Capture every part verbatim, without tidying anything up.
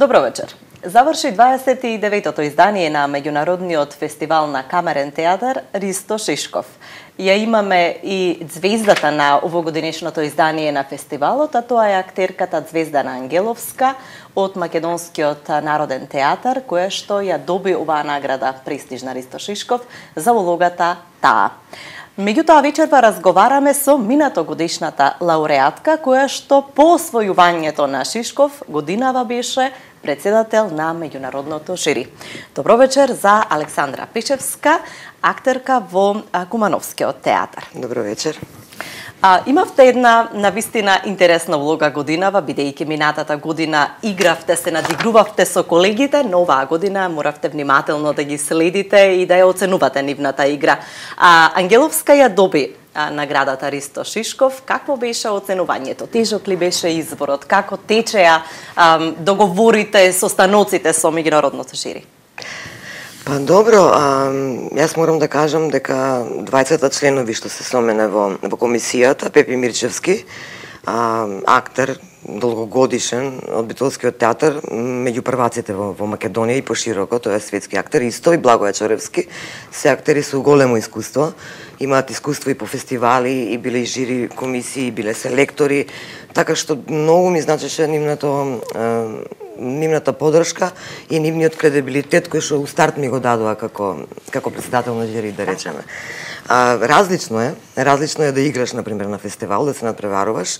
Добро вечер. Заврши дваесет и деветото издание на меѓународниот фестивал на камерен театар Ристо Шишков. Ја имаме и звездата на овогодинешното издание на фестивалот, а тоа е актерката Звездана Ангеловска од Македонскиот народен театар, која што ја доби оваа награда престижна Ристо Шишков за улогата таа. Меѓутоа вечерва разговараме со минатогодишната лауреатка, која што по освојувањето на Шишков годинава беше председател на меѓународното жири. Добро вечер за Александра Пишевска, актерка во Кумановскиот театар. Добро вечер. А, имавте една навистина интересна улога годинава, бидејќи минатата година игравте, се надигрувавте со колегите, но оваа година моравте внимателно да ги следите и да ја оценувате нивната игра. А, Ангеловска ја доби а, наградата Ристо Шишков. Какво беше оценувањето? Тежок ли беше изборот? Како течеа а, договорите со станоците со меѓународното жири? Па добро, а, јас морам да кажам дека дваесет членови што се со мене во, во комисијата, Пепи Мирчевски, а, актер, долгогодишен од Битолскиот театар, меѓу прваците во, во Македонија и пошироко, тој е светски актер, исто и Благоја Чоревски, се актери со големо искуство, имаат искуство и по фестивали, и биле и жири комисии, и биле селектори, така што многу ми значеше нивното нивната поддршка и нивниот кредибилитет кој што у старт ми го дадоа како како председател на жири, да речеме. А, различно е, различно е да играш на пример на фестивал, да се надпреваруваш.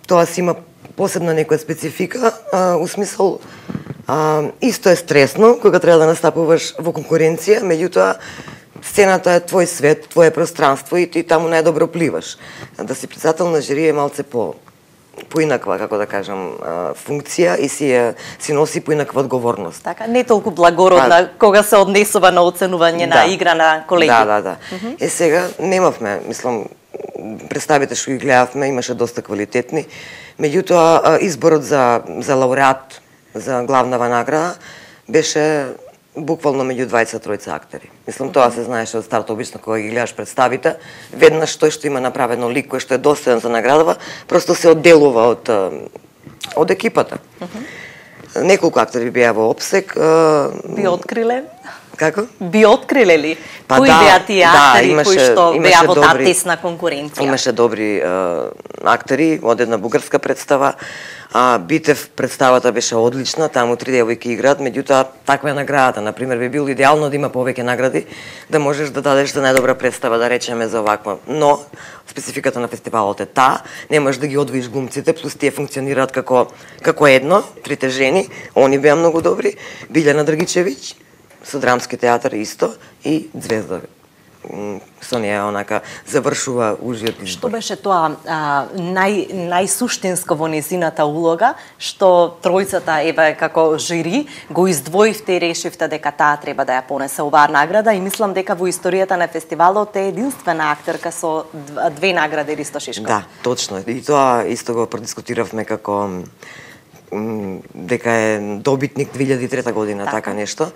Тоа си има посебна некоја специфика, а, у смисол а, исто е стресно кога треба да настапуваш во конкуренција, меѓутоа сцената е твој свет, твое пространство и ти таму најдобро пливаш. Да си председател на жири е малце по поинаква, како да кажам, функција и си, си носи поинаква одговорност. Така, не толку благородна а, кога се однесува на оценување да, на игра на колеги. Да, да, да. Uh -huh. Е, сега немавме, мислам, представите што ги гледавме, имаше доста квалитетни, меѓутоа изборот за, за лауреат, за главнава награда, беше буквално меѓу дваесет и тројца актери. Мислам, тоа се знаеше од старт, обично кога ги гледаш представите, веднаш тој што има направено лик кој што е достоен за наградава, просто се одделува од од екипата. Uh -huh. Неколку актери беа во опсек. Би откриле? Како? Би откриле ли? Па кои да, беа тие актери да, имаше, кои што беа во таа добри, тесна конкуренција? Имаше добри а, актери од една бугарска представа. А, Битев представата беше одлична, таму три девојки играат, меѓутоа таква е наградата. Например, би било идеално да има повеќе награди, да можеш да дадеш за најдобра представа, да речеме за оваква. Но спецификата на фестивалот е таа, не можеш да ги одвоиш глумците, плюс тие функционираат како како едно, трите жени, они беа многу добри, Билјана Драгичевиќ со драмски театар исто и Звезда. Со неја онака завршува ужиот избор. Што беше тоа а, нај најсуштинско во незината улога, што тројцата еве како жири го издвоивте и решивте дека таа треба да ја понесе оваа награда и мислам дека во историјата на фестивалот е единствена актерка со две награди Ристо Шишков. Да, точно. И тоа исто го продискутиравме како дека е добитник две илјади и трета година, така, така нешто.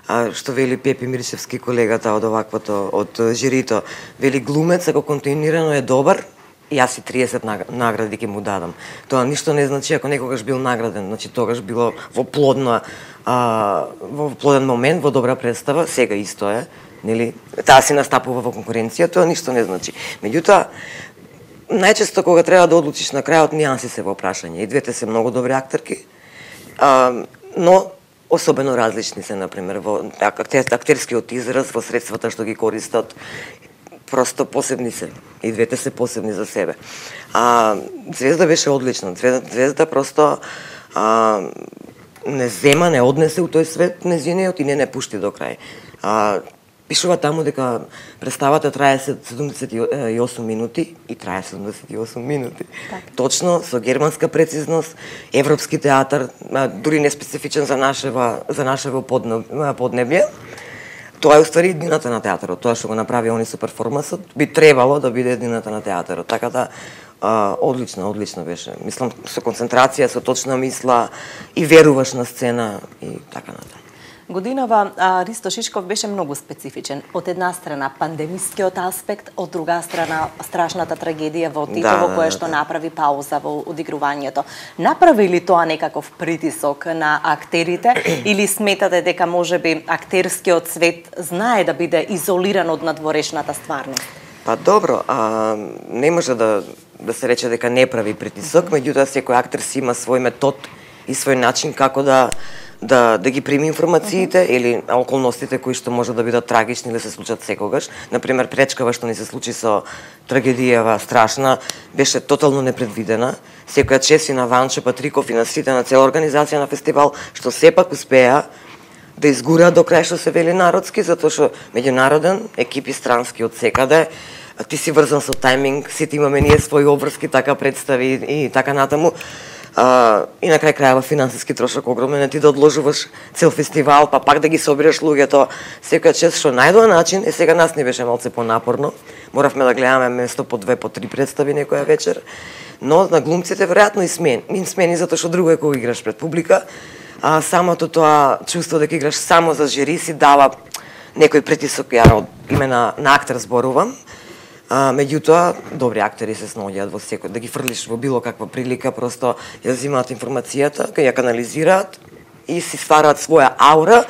А, што вели Пепи Мирчевски, колегата од оваквото, од жирито, вели глумец, ако континуирано е добар, и јас и триесет награди ќе му дадам. Тоа ништо не значи ако некогаш бил награден, значи тогаш било во плодна, а, во плоден момент, во добра представа, сега исто е, нели? Таа си настапува во конкуренција, тоа ништо не значи. Меѓутоа, најчесто кога треба да одлучиш на крајот, нијанси се во прашање. И двете се многу добри актерки, а, но особено различни се, например, во актерскиот израз, во средствата што ги користат, просто посебни се. И двете се посебни за себе. А Звезда беше одлична. Звезда просто а, не зема, не однесе у тој свет незиниот и не не пушти до крај. А, пишува таму дека представата трае седумдесет и осум минути и трае седумдесет и осум минути. Так. Точно, со германска прецизност, европски театар, дури не специфичен за нашева, за нашево поднебје. Тоа е уствари едината на театарот. Тоа што го направи они со перформансот би требало да биде едината на театарот. Така да а, одлично, одлично беше. Мислам со концентрација, со точна мисла и веруваш на сцена и така натаму. Годинава а, Ристо Шишков беше многу специфичен. Од една страна пандемискиот аспект, од друга страна страшната трагедија во Титово, да, кое да, што да. направи пауза во одигрувањето. Направи ли тоа некаков притисок на актерите или сметате дека можеби актерскиот свет знае да биде изолиран од надворешната стварност? Па добро, а, не може да да се рече дека не прави притисок, меѓутоа секој актер си има свој метод и свој начин како да да да ги прими информациите uh -huh. или околностите кои што може да бидат трагични или се случат секогаш. Например, пречкава што ни се случи со трагедијава страшна, беше тотално непредвидена. Секоја чест и на Ванчо Патриков и на сите на цела организација на фестивал што сепак успеа да изгураат до крај што се вели народски, затоа што меѓународен, екипи странски од секаде, ти си врзан со тајминг, сите имаме ние своји обврски, така представи и така натаму. А, и на крај крајава финансиски трошок огромен, ти да одложуваш цел фестивал, па пак да ги собираш луѓето, секоја чест што најдоа начин, е сега нас не беше малце понапорно, моравме да гледаме место по две, по три представи некоја вечер, но на глумците веројатно и смени, им смени затоа што друго е кога играш пред публика, а самото тоа чувство дека играш само за жири си дава некој притисок, ја од име на, на актер зборувам. А, меѓутоа, добри актери се снаоѓаат во секој, да ги фрлиш во било каква прилика, просто ја взимаат информацијата, кај ја канализираат и си ствараат своја аура,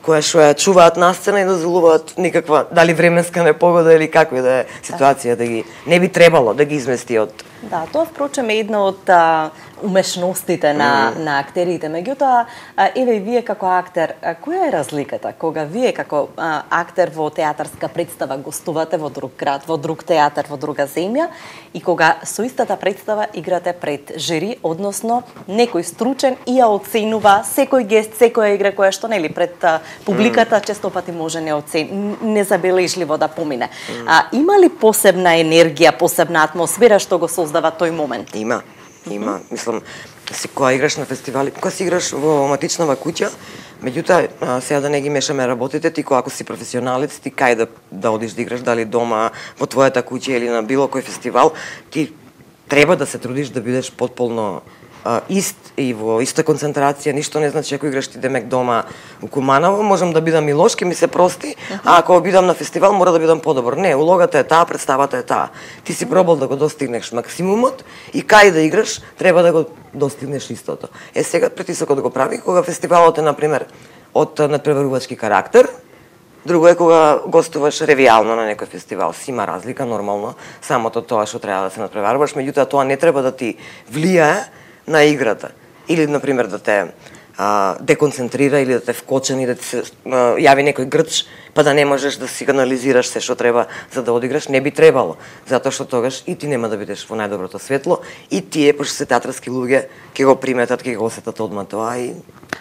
која што ја чуваат на сцена и дозволуваат никаква, дали временска непогода или каква да е ситуација, да ги, не би требало да ги измести од... Да, тоа впрочем е една од а, умешностите на, mm. на актерите. Меѓутоа, еве и вие како актер, а, која е разликата кога вие како а, актер во театарска представа гостувате во друг град, во друг театар, во друга земја и кога со истата представа играте пред жири, односно некој стручен и ја оценува секој гест, секоја игра која што нели пред а, публиката mm. често пати може не оцен, незабележливо да помине. Mm. А има ли посебна енергија, посебна атмосфера што го создава тој момент? Има. Има, мислам, се кога играш на фестивали, кога си играш во матичнава куќа, меѓутоа сега да не ги мешаме работите, ти кога ако си професионалец, ти кај да да одиш да играш, дали дома во твојата куќа или на било кој фестивал, ти треба да се трудиш да бидеш потполно а, ист и во иста концентрација, ништо не значи ако играш ти демек дома у Куманово, можам да бидам и лош, ке ми се прости, uh -huh. а ако бидам на фестивал мора да бидам подобар. Не, улогата е таа, представата е таа. Ти си пробал да го достигнеш максимумот и кај да играш треба да го достигнеш истото. Е сега притисокот го прави кога фестивалот е на пример од надпреварувачки карактер. Друго е кога гостуваш ревијално на некој фестивал. Си има разлика нормално, самото тоа што треба да се надпреваруваш, меѓутоа тоа не треба да ти влијае на играта. Или, например, да те а, деконцентрира или да те вкочен и да ти се а, јави некој грч, па да не можеш да си канализираш се што треба за да одиграш, не би требало. Затоа што тогаш и ти нема да бидеш во најдоброто светло, и тие, пошто се театарски луѓе, ќе го приметат, ќе го осетат одма тоа и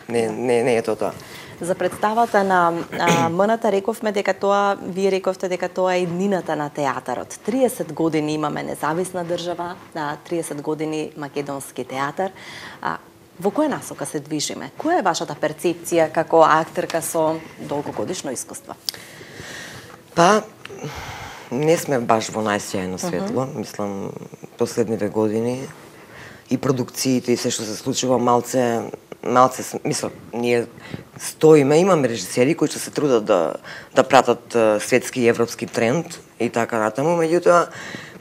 не, не, не е тоа тоа. За представата на а, М-ната рековме дека тоа, вие рековте дека тоа е иднината на театарот. триесет години имаме независна држава, на триесет години македонски театар. А, во која насока се движиме? Која е вашата перцепција како актерка со долгогодишно искуство? Па, не сме баш во најсјајно светло. Uh -huh. Мислам, последниве години и продукциите и се што се случува малце малце, мислам, ние стоиме, имаме режисери кои што се трудат да да пратат uh, светски и европски тренд и така натаму, меѓутоа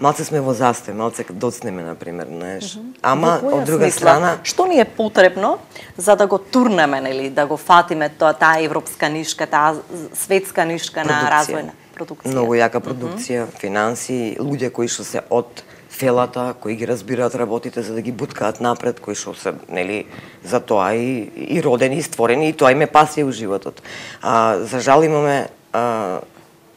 малце сме во застој, малце доцнеме на пример, знаеш. Mm -hmm. Ама од друга смисла, страна, што ни е потребно за да го турнеме, нели, да го фатиме тоа таа европска нишка, таа светска нишка продукција. На развојна продукција. Многу јака продукција, mm -hmm. финанси, луѓе кои што се од фелата, кои ги разбираат работите за да ги буткаат напред, кои што се, нели, за тоа и, и родени, и створени, и тоа им е пасија у животот. А, за жал имаме, а,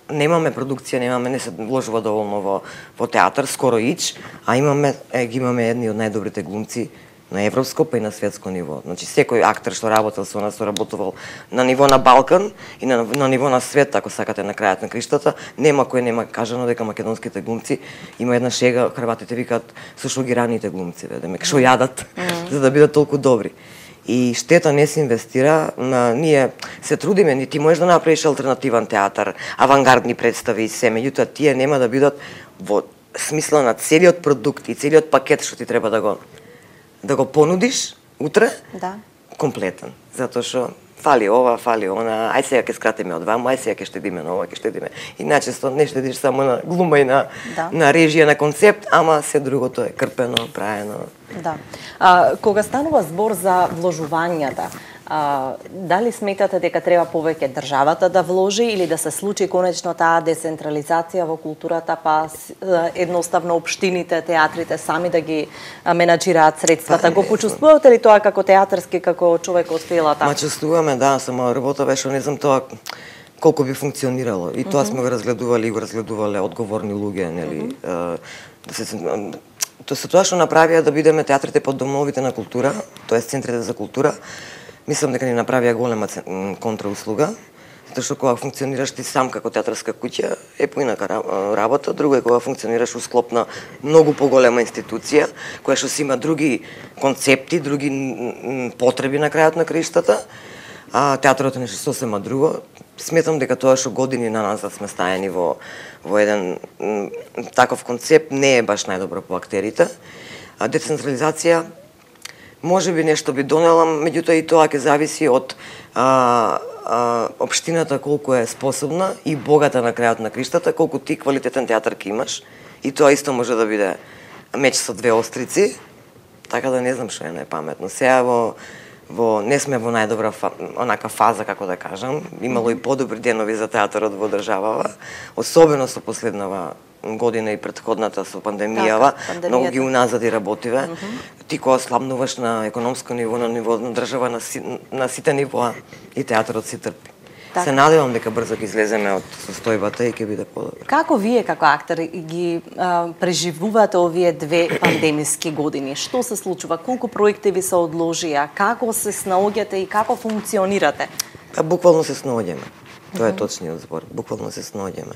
немаме продукција, немаме, не се вложува доволно во, во театар, скоро ич, а имаме, е, ги имаме едни од најдобрите глумци на европско, па и на светско ниво. Значи, секој актер што работел со нас, што работувал на ниво на Балкан и на, на ниво на свет, ако сакате на крајот на криштата, нема кој нема кажано дека македонските глумци, има една шега, хрватите викаат со што ги раните глумци, демек што јадат, mm -hmm. за да бидат толку добри. И штета не се инвестира, на, ние се трудиме, ни ти можеш да направиш алтернативен театар, авангардни представи и се, меѓутоа тие нема да бидат во смисла на целиот продукт и целиот пакет што ти треба да го да го понудиш утре, да, комплетен. Затоа што фали ова, фали она, ај сега ќе скратиме од ваму, ај сега ќе штедиме на ова, ќе штедиме. И начесто не штедиш само на глума и на, да. на режија, на концепт, ама се другото е крпено, праено. Да. А, кога станува збор за вложувањата, А, дали сметате дека треба повеќе државата да вложи или да се случи конечно таа децентрализација во културата, па едноставно општините, театрите сами да ги менаџираат средствата? Го почувствувате ли тоа како театарски, како човек од селата? Ма чувствуваме, да, само работа беше, не знам тоа колку би функционирало. И тоа mm -hmm. сме го разгледували и го разгледувале одговорни луѓе, нели? Mm -hmm. да се тоа се тоа што направија да бидеме театрите под домовите на култура, тоа е центрите за култура. Мислам дека ни направија голема контрауслуга, затоа што кога функционираш ти сам како театарска куќа е поинака работа, друго е кога функционираш у склоп на многу поголема институција, која што си има други концепти, други потреби на крајот на краиштата, а театарот е нешто сосема друго. Сметам дека тоа што години на назад сме стаени во, во еден таков концепт не е баш најдобро по актерите. А децентрализација може би нешто би донела, меѓутоа и тоа ќе зависи од а, а, општината колку е способна и богата на крајот на криштата, колку ти квалитетен театар ќе имаш. И тоа исто може да биде меч со две острици, така да не знам што е најпаметно. Сега во, во не сме во најдобра фа, онака фаза, како да кажам. Имало и подобри денови за театарот во државава, особено со последнава година и претходната со пандемијава, така, многу ги уназади работиве. Mm -hmm. Ти кога слабнуваш на економско ниво, на ниво на држава, на, си, на сите нивоа, и театарот си трпи. Така. Се надевам дека брзо ќе излеземе од состојбата и ќе биде подобро. Како вие како актер ги а, преживувате овие две пандемиски години? Што се случува? Колку проекти ви се одложија? Како се снаоѓате и како функционирате? Па буквално се снаоѓаме. Тоа е точниот збор. Буквално се снаоѓаме.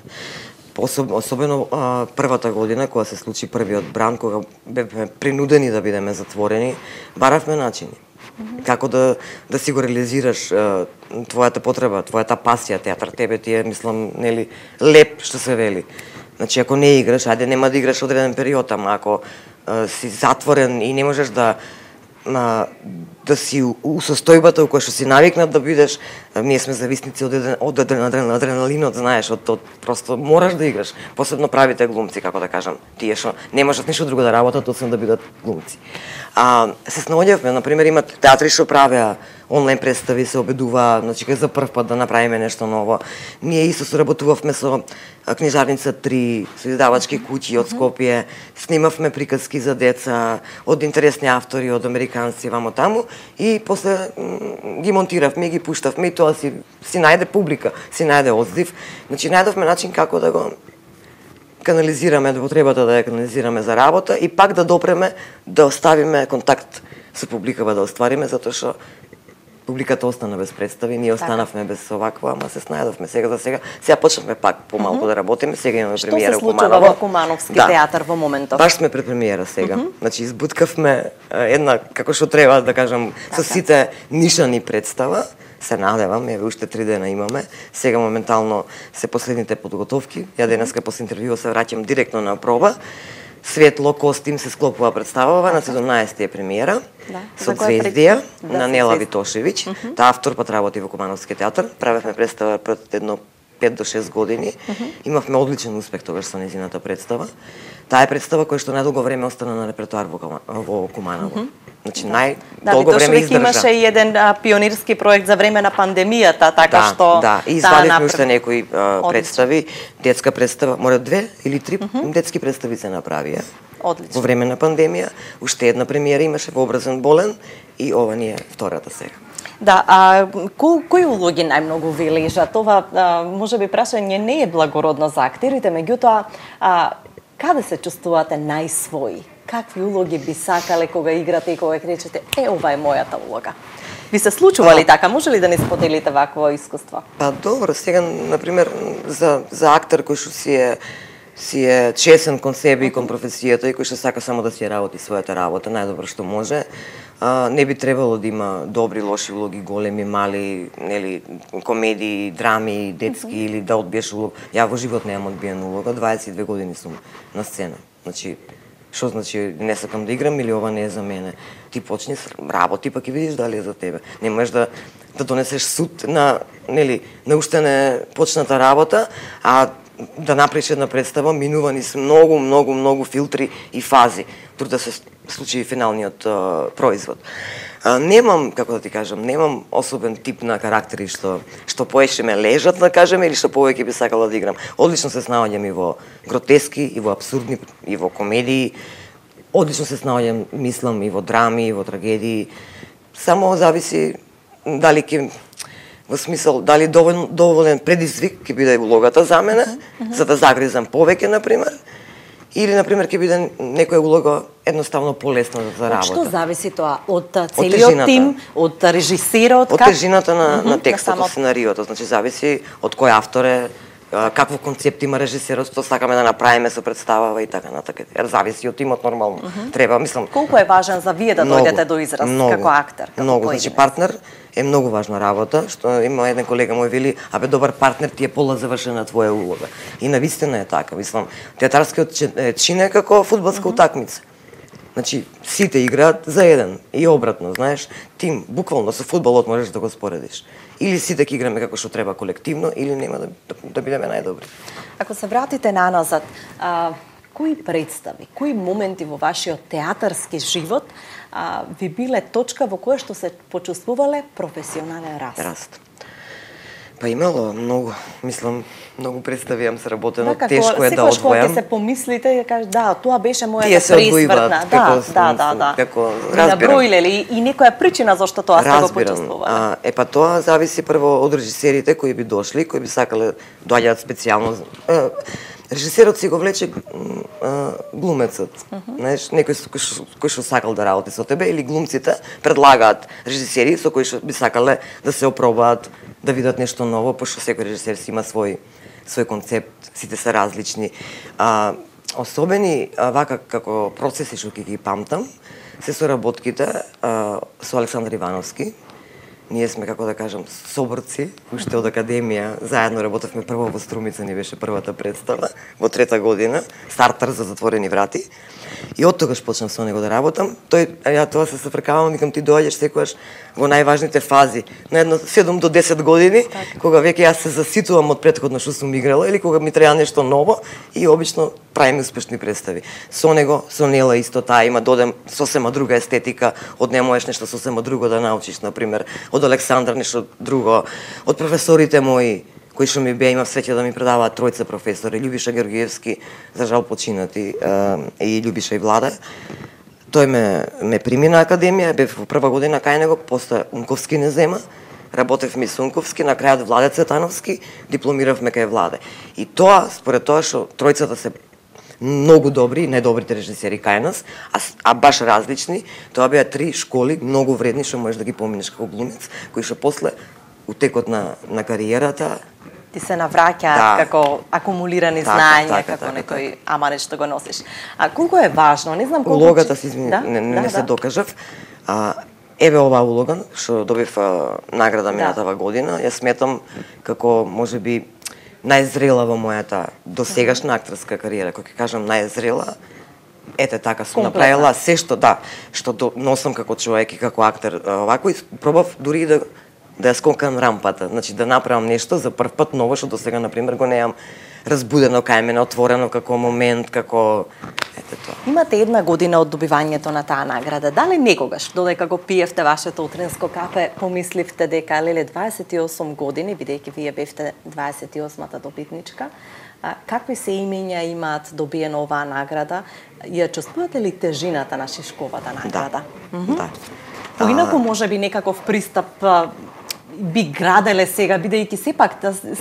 Особено а, првата година, кога се случи првиот бран, кога бевме принудени да бидеме затворени, баравме начини. Mm -hmm. Како да, да си го реализираш а, твојата потреба, твојата пасија, театар, тебе ти е, мислам, нели, леп, што се вели. Значи, ако не играш, ајде нема да играш одреден период, ама ако а, си затворен и не можеш да на да си у состојбата у која што си навикнат да бидеш, ние сме зависници од од адреналинот, знаеш, од, од просто мораш да играш, посебно правите глумци, како да кажам, тие што не можат ништо друго да работат освен да бидат глумци. А се снаоѓавме, на пример, имат театри што правеа онлайн представи, се обедуваа, значи кај за прв пат да направиме нешто ново. Ние исто соработувавме со книжарница три, со издавачки куќи од Скопје, снимавме приказки за деца од интересни автори, од американци, вамо таму, и после ги монтиравме и ги пуштавме и тоа си, си најде публика, си најде одзив. Значи најдовме начин како да го канализираме, да потребата да ја канализираме за работа и пак да допреме да оставиме контакт со публикава да оствариме, затоа што публиката остана без представи, ние останавме без оваква, ама се снајдовме сега за сега. Сега почнавме пак помалку mm -hmm. да работиме, сега имаме премиера во Куманово. Што се случува во Кумановски да. театар во моментов? Баш сме пред премиера сега. Mm -hmm. Значи избуткавме една, како што треба да кажам, така. со сите нишани представа. Се надевам, еве уште три дена имаме. Сега моментално се последните подготовки. Ја денеска после интервјуа се враќам директно на проба. Светло костим се склопува представава, на седумнаесети е премиера, да. со Звездија, да, на Нела Витошевиќ. Uh -huh. Таа автор пат работи во Кумановски театар. Правевме представа пред едно пет до шест години. Uh -huh. Имавме одличен успех тогаш со нејзината представа. Таа е представа која што најдолго време остана на репертоар во, во Куманово. Uh -huh. Значи, најдолго да, време издржа. Имаше и еден а, пионирски проект за време на пандемијата, така да, што... Да, и извадивме уште некои а, представи, детска представа, мора две или три uh -huh. детски представи се направија. Одлично. Во време на пандемија, уште една премиера имаше во Образен болен и ова ни е втората сега. Да, а кои, кои улоги најмногу ви лежат? Ова, а, може би прашање не е благородно за актерите, меѓутоа, а, каде се чувствувате најсвои? Какви улоги би сакале кога играте и кога кречете, е, ова е мојата улога? Ви се случува ли така? Може ли да не споделите вакво искуство? Па добро, сега, например, за, за актер кој што си е си е чесен кон себе и кон професијата и кој што сака само да си работи својата работа, најдобро што може, а, не би требало да има добри, лоши улоги, големи, мали, нели, комедии, драми, детски mm -hmm. или да одбиеш улог. Ја во живот немам одбиена улога, дваесет и две години сум на сцена. Значи, што значи не сакам да играм или ова не е за мене? Ти почни работи, па ќе видиш дали е за тебе. Не можеш да да донесеш суд на, нели, на уште не почната работа, а да направиш една представа, минувани се многу, многу, многу филтри и фази, тур да се случи финалниот а, производ. А, немам, како да ти кажам, немам особен тип на карактери што што поеше ме лежат, да кажеме, или што повеќе би сакала да играм. Одлично се снаоѓам и во гротески, и во абсурдни, и во комедии. Одлично се снаоѓам, мислам, и во драми, и во трагедии. Само зависи дали ќе, во смисол, дали доволен, доволен предизвик ќе биде улогата за мене, uh -huh. за да загризам повеќе, например, или, например, ќе биде некоја улога едноставно полесна за работа. Од што зависи тоа? Од целиот тим, од режисерот? Од как... тежината на, uh -huh, на текстот, на само... сценариото. Значи, зависи од кој автор е, каков концепт има режисерот, што сакаме да направиме со представава и така натака. Ер зависи од тимот нормално. Uh -huh. Треба, мислам. Колку е важен за вие да многу, дојдете до израз многу, како актер, како многу, значи партнер е многу важна работа, што има еден колега мој вели, абе добар партнер ти е пола завршена твоја улога. И навистина е така, мислам, театарскиот чин е како фудбалска uh -huh. утакмица. Значи, сите играат за еден и обратно, знаеш, тим, буквално со фудбалот можеш да го споредиш. Или сите ќе играме како што треба колективно, или нема да, да, да бидеме најдобри. Ако се вратите наназад, а, кои представи, кои моменти во вашиот театарски живот а, ви биле точка во која што се почувствувале професионален раст? Раст. Па имало многу, мислам, многу представи јам сработено, да, тешко е да одвојам. Секојаш кога ќе се помислите и кажеш, да, тоа беше мојата пресвртна. Да, да, да, да. Како, разбирам. Наброиле ли и некоја причина зашто тоа сте го почувствувале? А, е па тоа зависи прво од режисерите кои би дошли, кои би сакале доаѓаат специјално. Режисерот си го влече а, глумецот. Uh -huh. Знаеш, некој кој што сакал да работи со тебе, или глумците предлагаат режисери со кои што би сакале да се опробаат, да видат нешто ново, пошто секој режисер си има свој свој концепт, сите се различни. А, особени а, вака како процеси што ќе ги памтам се соработките а, со Александар Ивановски. Ние сме, како да кажам, соборци, уште од академија, заедно работевме прво во Струмица, ни беше првата представа, во трета година, стартер за затворени врати. И од тогаш почнав со него да работам. Тој, ја тоа се сфркавам, викам ти доаѓаш секогаш во најважните фази, на едно седум до десет години, так. Кога веќе јас се заситувам од претходно што сум играла или кога ми треба нешто ново и обично правиме успешни представи. Со него, со Нела исто таа има, додем сосема друга естетика, од не можеш нешто сосема друго да научиш, например, од Александар нешто друго, од професорите мои кои што ми беа, имав среќа да ми предаваат тројца професори, Љубиша Георгиевски, за жал починати, и Љубиша и Влада. Тој ме, ме прими на академија, бев во прва година кај него, после Унковски не зема, работевме со Унковски, на крајот Владе Цветановски, дипломиравме кај Владе. И тоа, според тоа што тројцата се многу добри, најдобрите режисери кај нас, а, а баш различни, тоа беа три школи, многу вредни, што можеш да ги поминеш како глумец, кои што после, у текот на, на кариерата, ти се навраќаат да. Како акумулирани така, знања, така, како така, некој така. Аманет што го носиш. А колку е важно, не знам колку... Улогата, си извини, да? не, не да, се да. докажав. А, еве оваа улога, што добив а, награда минатава да. година, ја сметам како, можеби, најзрела во мојата досегашна актерска кариера. Кога ќе кажам најзрела, ете така сум направила се што, да, што до, носам како човек и како актер, овако, и пробав дури да да ја скокам рампата, значи да направам нешто за прв пат ново што досега на пример го неам разбудено кај мене, отворено како момент, како ете тоа. Имате една година од добивањето на таа награда. Дали некогаш додека го пиевте вашето утринско кафе, помисливте дека леле дваесет и осум години, бидејќи вие бевте дваесет и осмата добитничка, а, какви се имења имаат добиено оваа награда? Ја чувствувате ли тежината на Шишковата награда? Да. Mm -hmm. Да. Поинаку можеби некаков пристап би граделе сега, бидејќи сепак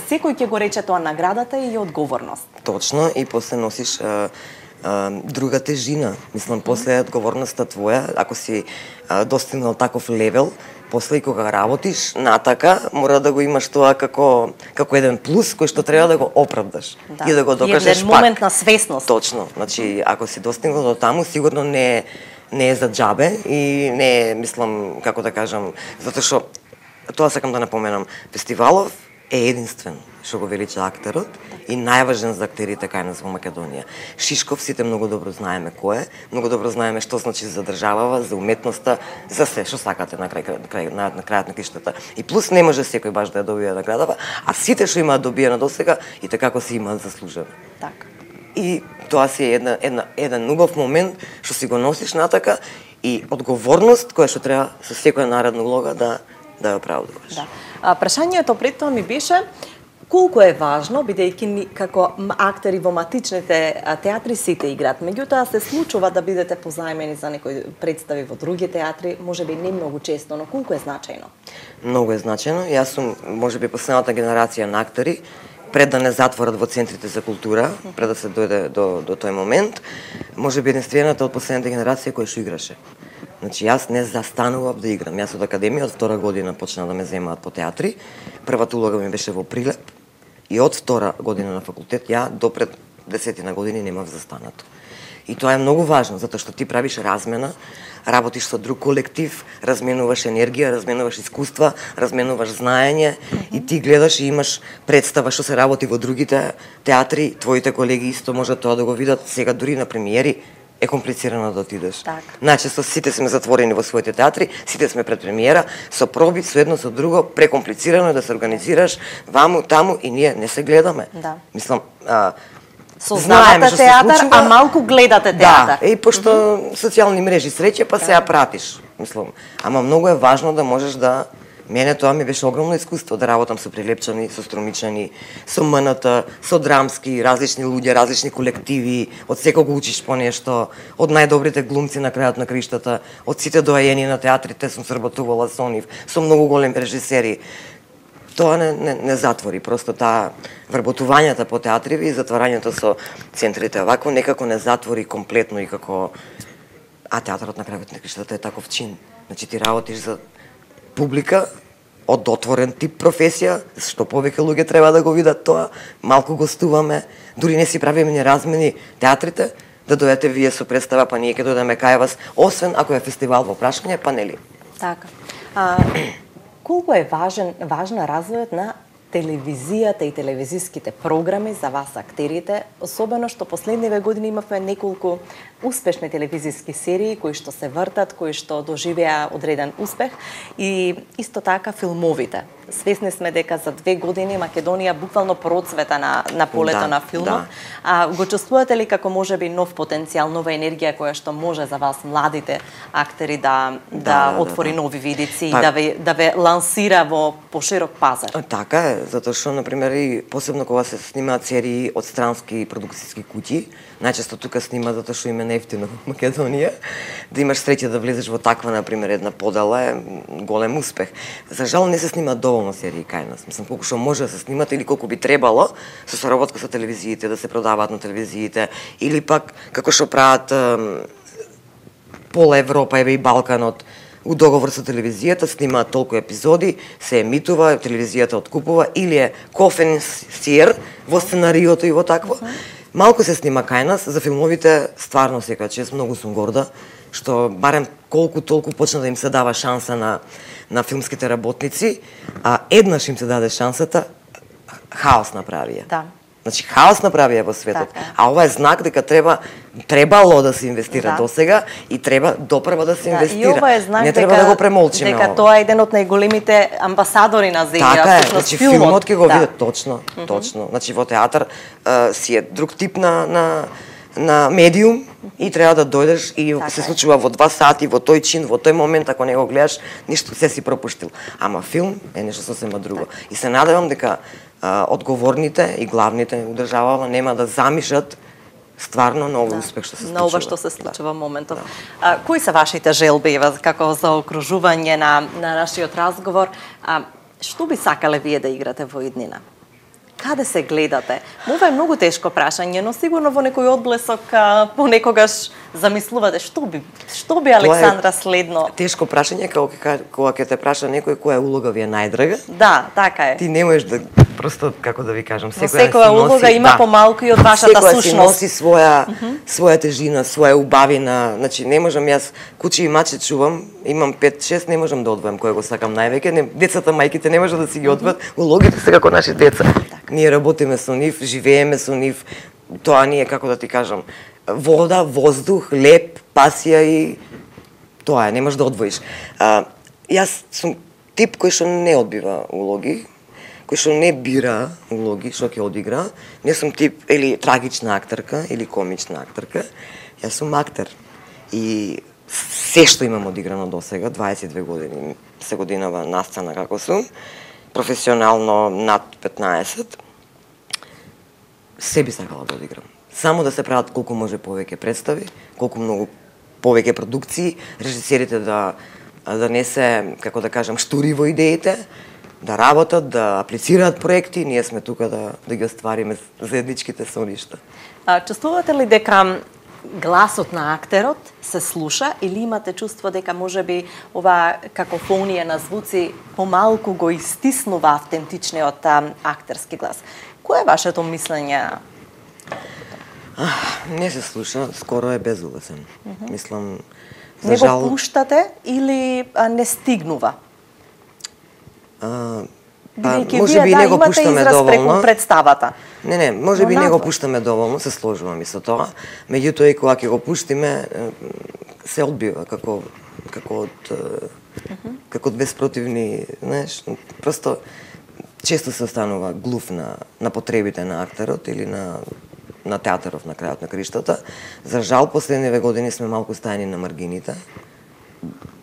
секој ќе го рече тоа наградата и одговорност. Точно, и после носиш а, а, друга тежина. Мислам, после одговорноста твоја, ако си а, достигнал таков левел, после и кога работиш натака, мора да го имаш тоа како како еден плюс кој што треба да го оправдаш да. И да го докажеш пак. Еден момент на свесност. Точно, значи ако си достигнал до таму, сигурно не е не е за џабе и не е, мислам, како да кажам, затоа што тоа сакам да напоменам, фестивалов е единствен. што го велича актерот и најважен за актерите кај нас во Македонија. Шишков сите многу добро знаеме кој е, многу добро знаеме што значи за државава, за уметноста, за се што сакате на крај, крај на, на крајот на криштата. И плюс не може секој баш да ја добие наградава, а сите што имаат добиена досега и така како се имаат заслужено. Така. И тоа си е една, една, еден убав момент што си го носиш натака и одговорност која што треба со секоја наредна улога да да ја оправдуваш. Да. А, прашањето пред тоа ми беше колку е важно, бидејќи ни како актери во матичните театри сите играат. Меѓутоа се случува да бидете позајмени за некои представи во други театри, можеби не многу често, но колку е значајно? Многу е значајно. Јас сум можеби последната генерација на актери, пред да не затворат во центрите за култура, пред да се дојде до, до тој момент, можеби единствената од последната генерација која што играше. Значи, јас не застанував да играм. Јас од академија, од втора година почна да ме земаат по театри. Првата улога ми беше во Прилеп и од втора година на факултет ја до пред десетина години немав застанато. И тоа е многу важно, затоа што ти правиш размена, работиш со друг колектив, разменуваш енергија, разменуваш искуства, разменуваш знаење и ти гледаш и имаш представа што се работи во другите театри, твоите колеги исто можат тоа да го видат. Сега дури на премиери е комплицирано да отидеш. Так. Најчесто сите сме затворени во своите театри, сите сме пред премиера, со проби, со едно со друго, прекомплицирано е да се организираш ваму, таму и ние не се гледаме. Да. Мислам, а, сознавате театар, а малку гледате театар. Да, и пошто mm -hmm. социјални мрежи среќа, па се ја пратиш. Мислам, ама многу е важно да можеш да... Мене тоа ми беше огромно искуство да работам со Прилепчани, со Струмичани, со МНТ, со драмски, различни луѓе, различни колективи, од секого учиш по нешто, од најдобрите глумци на крајот на криштата, од сите доаени на театрите сум сработувала со нив, со многу големи режисери. Тоа не, не, не затвори, просто таа вработувањата по театриви и затварањето со центрите овако некако не затвори комплетно и како... А театарот на крајот на криштата е таков чин. Значи ти работиш за публика од отворен тип професија, што повеќе луѓе треба да го видат тоа, малку гостуваме, дури не си правиме ни размени театрите, да дојдете вие со представа, па ние ќе дојдеме кај вас, освен ако е фестивал во прашање, па нели? Така. А, колку е важен, важна развојот на телевизијата и телевизиските програми за вас актерите, особено што последниве години имавме неколку успешни телевизиски серии кои што се вртат, кои што доживеа одреден успех и исто така филмовите. Свесни сме дека за две години Македонија буквално процвета на, на полето да, на филмот. Да. А го чувствувате ли како можеби нов потенцијал, нова енергија која што може за вас младите актери да да, да, да отвори да, да. нови видици и па, да ве да ве лансира во поширок пазар? Така е, затоа што на пример и посебно кога се снимаат серии од странски продукцијски куќи, најчесто тука снимаат затоа што им е неевтино во Македонија, да имаш среќа да влезеш во таква на пример една подела е голем успех. За жал не се снимаат доволно серии кај нас. Мислам колку што може да се снимат или колку би требало со соработка со телевизиите да се продаваат на телевизиите или пак како што прават пола Европа еве и Балканот у договор со телевизијата, снимаат толку епизоди, се емитува, телевизијата откупува или е кофенсиер во сценариото и во такво. Малку се снима кај нас, за филмовите стварно секоја чест многу сум горда што барем колку толку почна да им се дава шанса на на филмските работници, а еднаш им се даде шансата, хаос направија. Да. Значи хаос направија во светот, така. А ова е знак дека треба требало да се инвестира да. досега и треба допрва да се да, инвестира. И ова е знак не треба дека, да го премолчиме. Дека ова. тоа е еден од најголемите амбасадори на земја. Така е, значи филмот, филмот ќе го да. видат точно, mm -hmm. точно. Значи во театар а, си е друг тип на на на медиум и треба да дојдеш и така се случува во два сати, во тој чин, во тој момент, ако не го гледаш, ништо се си пропуштил. Ама филм е нешто сосема друго. Так. И се надевам дека а, одговорните и главните у државава нема да замишат стварно на овој да. успех што се случува. На ова што се случува да. моментов. Да. А, кои се вашите желби, како за окружување на, на нашиот разговор? А, што би сакале вие да играте во иднина? Каде се гледате? Ова е многу тешко прашање, но сигурно во некој одблесок понекогаш замислувате што би што би Александра следно. Тешко прашање кога кога ќе те праша некој која улога ви е најдрага. Да, така е. Ти не можеш да Просто како да ви кажам, секоја, секоја си улога носи, има да, помалку и од вашата секоја сушност. Секоја си носи своја mm -hmm. своја тежина, своја убавина. Значи не можам јас куче и маче чувам, имам пет шест, не можам да одвојам кој го сакам највеќе. Не, децата, мајките не можат да си ги одвојат. Mm -hmm. Улогите се како наши деца. Так. Ние работиме со нив, живееме со нив. Тоа ни е, како да ти кажам, вода, воздух, леп, пасија и тоа е, не можеш да одвоиш. А, јас сум тип кој што не одбива улоги, кој што не бира улоги што ќе одигра. Не сум тип или трагична актерка или комична актерка. Јас сум актер. И се што имам одиграно до сега, дваесет и две години се годинава на сцена како сум, професионално над петнаесет, се би сакала да одиграм. Само да се прават колку може повеќе представи, колку многу повеќе продукции, режисерите да да не се, како да кажам, штури во идеите, да работат, да аплицираат проекти, ние сме тука да да ги оствариме заедничките соништа. А чувствувате ли дека гласот на актерот се слуша или имате чувство дека можеби ова какофонија на звуци помалку го истиснува автентичниот актерски глас? Кој е вашето мислење? Не се слуша, скоро е безгласен. Mm -hmm. Мислам, за не жал... го пуштате или а, не стигнува? А, па, може би да, не го пуштаме доволно. Представата. Не, не, може би не го пуштаме доволно, се сложувам и со тоа. Меѓутоа и кога ќе го пуштиме, се одбива како како од mm -hmm. како од безпротивни, знаеш, просто често се останува глув на на потребите на актерот или на на театаров на крајот на криштата. За жал, последниве години сме малку стајани на маргините.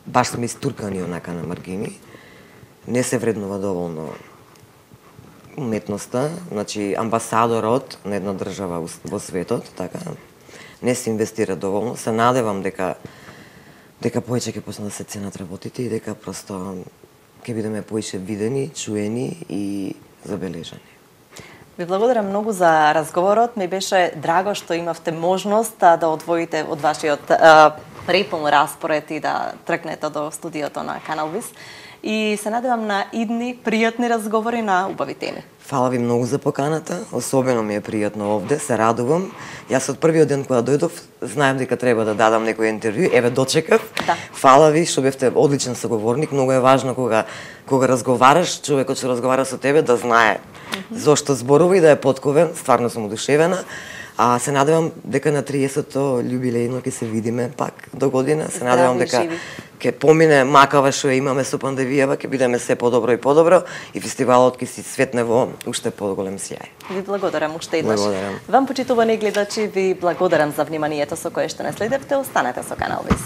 Баш сме истуркани онака на маргини. Не се вреднува доволно уметноста, значи амбасадорот на една држава во светот, така, не се инвестира доволно. Се надевам дека дека повеќе ќе почнат да се ценат работите и дека просто ќе бидеме поише видени, чуени и забележани. Ви благодарам многу за разговорот. Ми беше драго што имавте можност да одвоите од вашиот а, препун распоред и да тркнете до студиото на Канал Вис. И се надевам на идни пријатни разговори на убави теми. Фала ви многу за поканата, особено ми е пријатно овде, се радувам. Јас од првиот ден кога дојдов, знаем дека треба да дадам некој интервју, еве дочекав. Да. Фала ви што бевте одличен соговорник, многу е важно кога кога разговараш, човекот што разговара со тебе да знае mm -hmm. зошто зборува и да е потковен, стварно сум одушевена. А се надевам дека на триесетто љубилејно ќе се видиме пак до година. Се надевам дека ќе помине макава што имаме со пандемијава, ќе бидеме се подобро и подобро и фестивалот ќе си светне во уште поголем сјај. Ви благодарам уште еднаш. Благодарам. Вам, почитувани гледачи, ви благодарам за вниманието со кое што не следевте. Останете со Канал Вис.